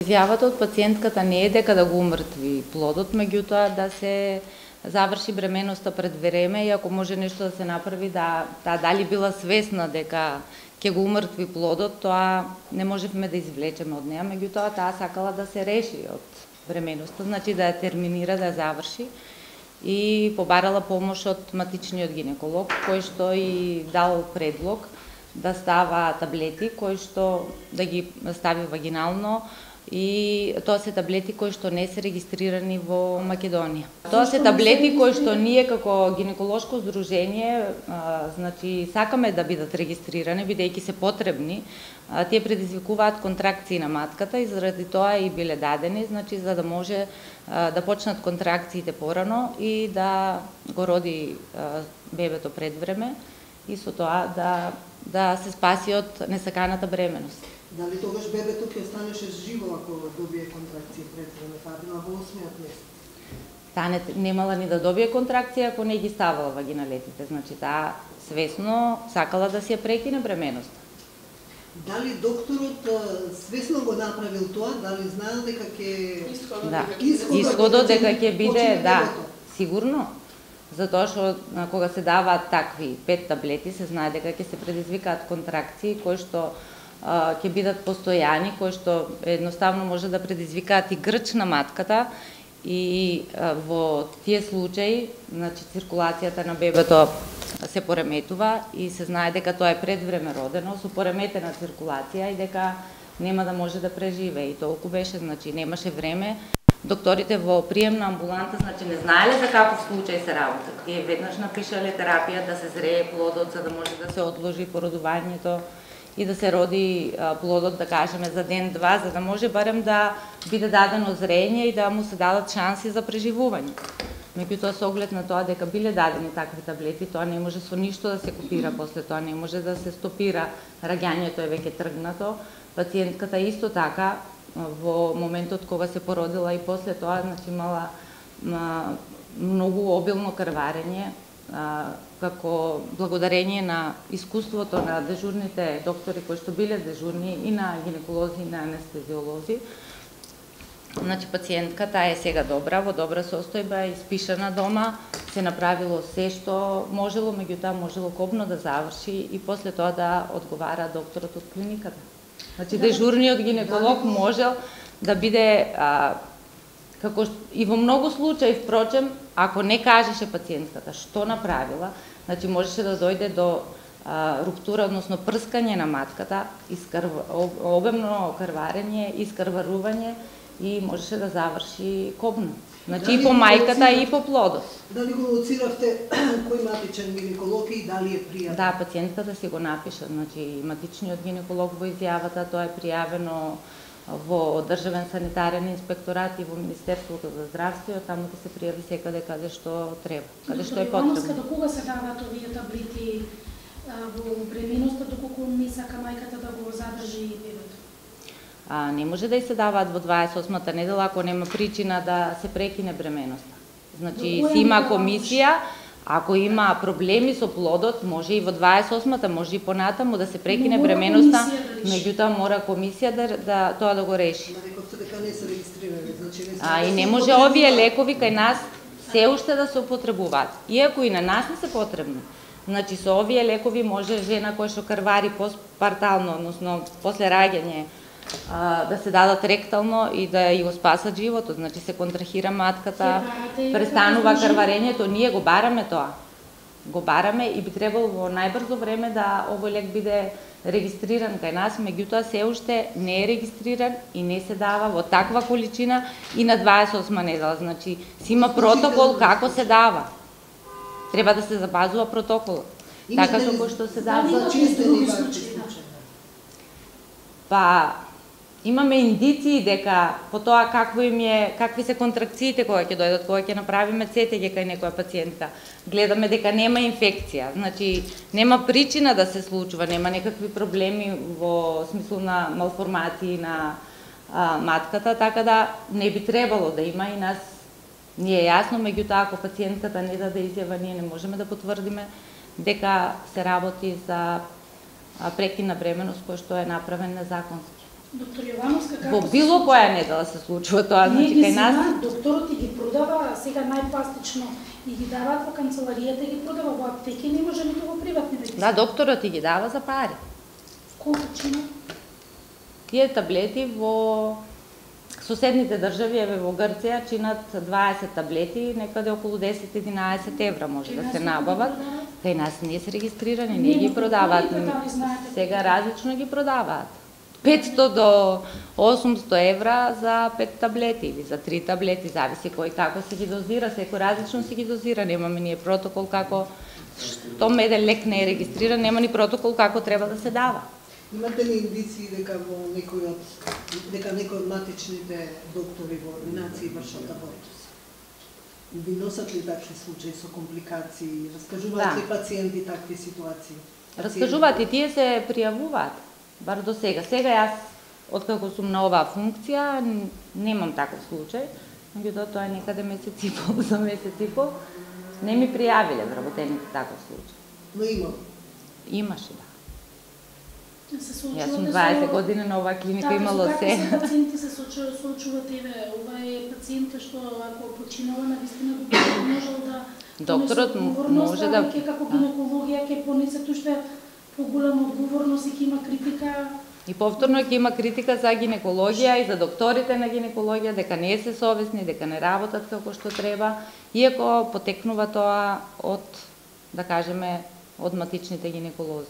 Изјавата од пациентката не е дека да го умртви плодот, меѓутоа да се заврши бременоста пред време и ако може нешто да се направи, таа дали била свесна дека ќе го умртви плодот, тоа не можевме да извлечеме од неа, меѓутоа таа сакала да се реши од бременоста, значи да ја терминира, да ја заврши и побарала помош од матичниот гинеколог, кој што и дал предлог да става таблети кои што да ги стави вагинално, и тоа се таблети кои што не се регистрирани во Македонија. Тоа се таблети кои што ние како гинеколошко здружение значи сакаме да бидат регистрирани бидејќи се потребни. Тие предизвикуваат контракции на матката и заради тоа и биле дадени, значи за да може да почнат контракциите порано и да го роди бебето пред време и со тоа да се спаси од несаканата бременост. Дали тогаш бебето ќе останеше живо ако добие контракции пред време, таа била во 8-миот месец? Таа немала ни да добие контракција ако не ги ставала вагиналетите, значи таа свесно сакала да си ја прекине бременоста. Дали докторот свесно го направил тоа, дали знаел дека ќе исходот дека ќе биде, да, сигурно. Затоа што кога се даваат такви 5 таблети, се знае дека ќе се предизвикаат контракции кои што ќе бидат постојани, кои што едноставно може да предизвикаат и грч на матката и во тие случаи, значи циркулацијата на бебето се пореметува и се знае дека тоа е пред време родено со пореметена циркулација и дека нема да може да преживее. И толку беше, значи немаше време. Докторите во приемна амбуланта значи не знаеле за каков случај се работи. Тие веднаш напишале терапија да се зрее плодот за да може да се одложи породувањето и да се роди плодот, да кажеме, за ден-два, за да може барем да биде дадено зрење и да му се дадат шанси за преживување. Меѓутоа, со оглед на тоа дека биле дадени такви таблети, тоа не може со ништо да се копира после тоа, не може да се стопира, раѓањето е веќе тргнато. Пациентката исто така, во моментот кога се породила и после тоа, значи имала многу обилно крварење, како благодарение на искуството на дежурните доктори кои што биле дежурни и на гинеколози и на анестезиолози. Значи пациентката е сега добра, во добра состојба, испишана дома, се направило се што можело, меѓутоа можело кобно да заврши и после тоа да одговара докторот од клиниката. Значи дежурниот гинеколог можел да биде како и во многу случаи, впрочем, ако не кажеше пациентката што направила, значи можеше да дојде до руптура, односно прскање на матката, обемно крварење, искрварување и можеше да заврши кобно. Значи и по мајката и по плодот. Дали го лоциравте кој матичен гинеколог и дали е пријавен? Да, пациентката си го напиша, значи матичниот гинеколог во изјавата, тоа е пријавено во Државен санитарен инспекторат и во Министерството за здравство, таму ќе се пријави секаде каде што треба, каде што е потребно. До кога се даваат овие таблети во бременоста, доколку не сака мајката да го задржи бебето? Не може да се даваат во 28-та недела ако нема причина да се прекине бременоста. Значи си има комисија, ако има проблеми со плодот, може и во 28-та, може и понатаму да се прекине бременоста, меѓутоа мора комисија тоа да го реши. И не може овие лекови кај нас се уште да се употребуваат, иако и на нас не се потребни. Значи со овие лекови може жена која што крвари постпартално, односно после раѓање, да се дадат ректално и да ја го спасат животот, значи се контрахира матката, престанува крварењето, ние го бараме тоа. Го бараме и би требало во најбрзо време да овој лек биде регистриран кај нас, меѓутоа се уште не е регистриран и не се дава во таква количина и на 28 недела. Значи си има протокол како се дава. Треба да се запазува протоколот. Така како што се дава. Имаме индиции дека по тоа какви се контракциите кога ќе дојдат, кога ќе направиме ЦТГ кај некоја пациентка. Гледаме дека нема инфекција, значи нема причина да се случува, нема некакви проблеми во смисла на малформации на матката, така да не би требало да има и нас ни е јасно, меѓутоа ако пациентката не даде изјава, ние не можеме да потврдиме дека се работи за прекин на бременост кој што е направен незаконски. Доктор Јовановска, како Во било која недела се случува тоа, значи кај нас докторот ги продава сега најпластично и ги даваат во канцеларијата и ги продава во аптеки, не може ниту во приватни да ги. Да, докторот ги дава за пари. Колку чина? Тие таблети во соседните држави, еве во Грција, чинат 20 таблети, некаде околу 10-11 евра може да се набават. Кај нас не се регистрирани, не ги продаваат. Сега различно ги продаваат. 500 до 800 евра за 5 таблети или за 3 таблети, зависи кој како се ги дозира, секој различно се ги дозира, немаме ние протокол како, штом еден лек не е регистриран, нема ни протокол како треба да се дава. Имате ли индиции дека некој од матичните доктори во ординации вршат абортус? Ви носат ли такви случаи со компликации? Раскажуваат ли пациенти такви ситуации? Раскажуваат и тие се пријавуваат, бар до сега. Сега јас, откако сум на оваа функција, немам таков случај, меѓутоа тоа е некаде месец и пол, за месец и пол. Не ми пријавиле вработените таков случај. Но има? Имаше, да. Јас сум 20 години на оваа клиника, имало се. Како пациенти се соочуваат, еве, ова е пациентка што ако починала навистина докторот можел да докторот може да како гинекологија ќе понесе уште поголема одговорност и ќе има критика. И повторно ќе има критика за гинекологија и за докторите на гинекологија дека не се совесни, дека не работат како што треба, иако потекнува тоа од, да кажеме, од матичните гинеколози.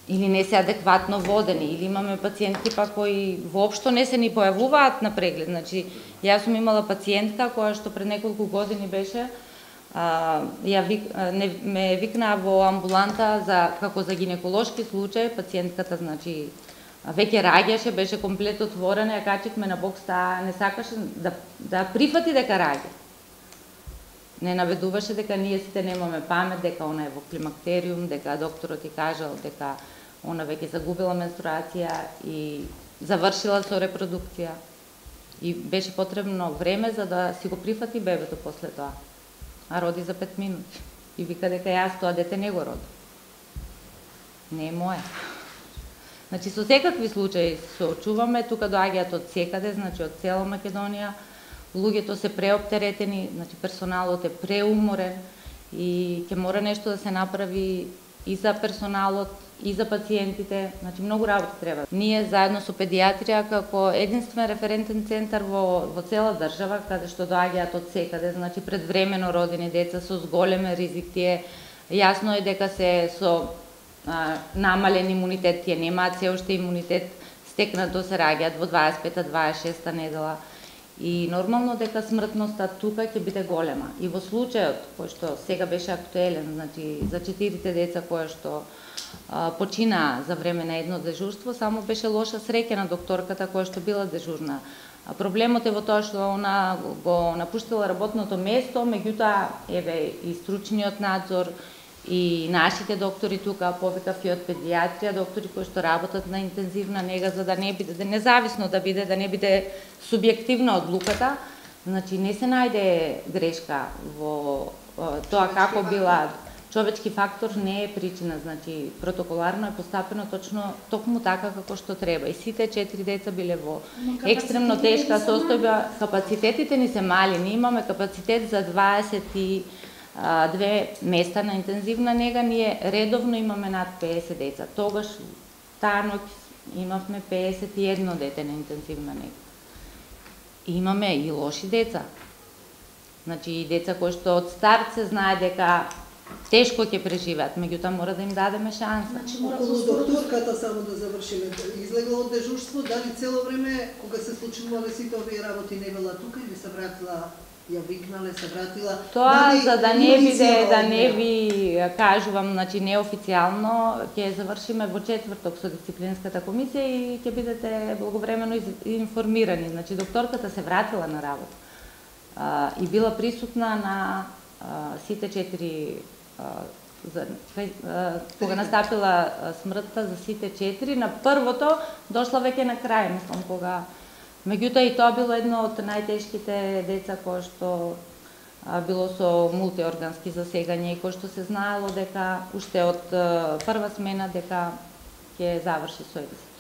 Или не се адекватно водени, или имаме пациентки па кои воопшто не се ни појавуваат на преглед. Значи, јас сум имала пациентка која што пред неколку години беше, ме викнаа во амбуланта како за гинеколошки случај, пациентката, значи, веќе раѓаше, беше комплет отворена, ја качихме на бокс, таа не сакаше да прифати дека раѓа. Не наведуваше дека ние сите немаме памет, дека она е во климактериум, дека докторот ти кажал дека она веќе загубила менструација и завршила со репродукција. И беше потребно време за да си го прифати бебето после тоа. А роди за 5 минути. И вика дека јас тоа дете не го роди. Не е моја. Значи, со секакви случаи соочуваме, тука доаѓаат од секаде, значи од цела Македонија, луѓето се преоптеретени, значи персоналот е преуморен и ќе мора нешто да се направи и за персоналот, и за пациентите, значи многу работа треба. Ние заедно со педиатрија како единствен референтен центар во цела држава, каде што доаѓаат од секаде, значи предвремено родени деца со зголемен ризик, тие јасно е дека се со намален имунитет, тие немаат се уште имунитет, стекнато се раѓаат во 25-26 недела. И нормално дека смртноста тука ќе биде голема. И во случајот кој што сега беше актуелен, значи за 4 деца кои што починаа за време на едно дежурство, само беше лоша среќа на докторката која што била дежурна. Проблемот е во тоа што она го напуштила работното место, меѓутоа еве и стручниот надзор и нашите доктори тука, повикав и од педиатрија, доктори кои што работат на интензивна нега за да не биде независно да не биде субјективна одлуката, значи не се најде грешка во тоа како била. Човечки фактор не е причина, значи протоколарно е постапено токму така како што треба. И сите 4 деца биле во екстремно тешка состојба. Капацитетите ни се мали, ние имаме капацитет за 22 места на интензивна нега, ние редовно имаме над 50 деца. Тогаш таа ноќ имавме 51 дете на интензивна нега. И имаме и лоши деца. Значи и деца кои што од старт се знае дека тешко ќе преживеат, меѓутоа мора да им дадеме шанса. Околу докторката, само да завршиме, излегла од дежурство, дали цело време кога се случувале сите овие работи не била тука или се вратила, ја викнале, се вратила? Тоа за да не биде, да не ви кажувам, значи неофицијално, ќе завршиме во четврток со дисциплинската комисија и ќе бидете благовремено информирани. Значи докторката се вратила на работа и била присутна на сите 4 кога настапила смртта за сите 4, на првото дошла веќе на крај, мислам, кога меѓутоа и тоа било едно од најтешките деца кое што било со мултиоргански засегање и кое што се знаело дека уште од прва смена дека ќе заврши со екзит.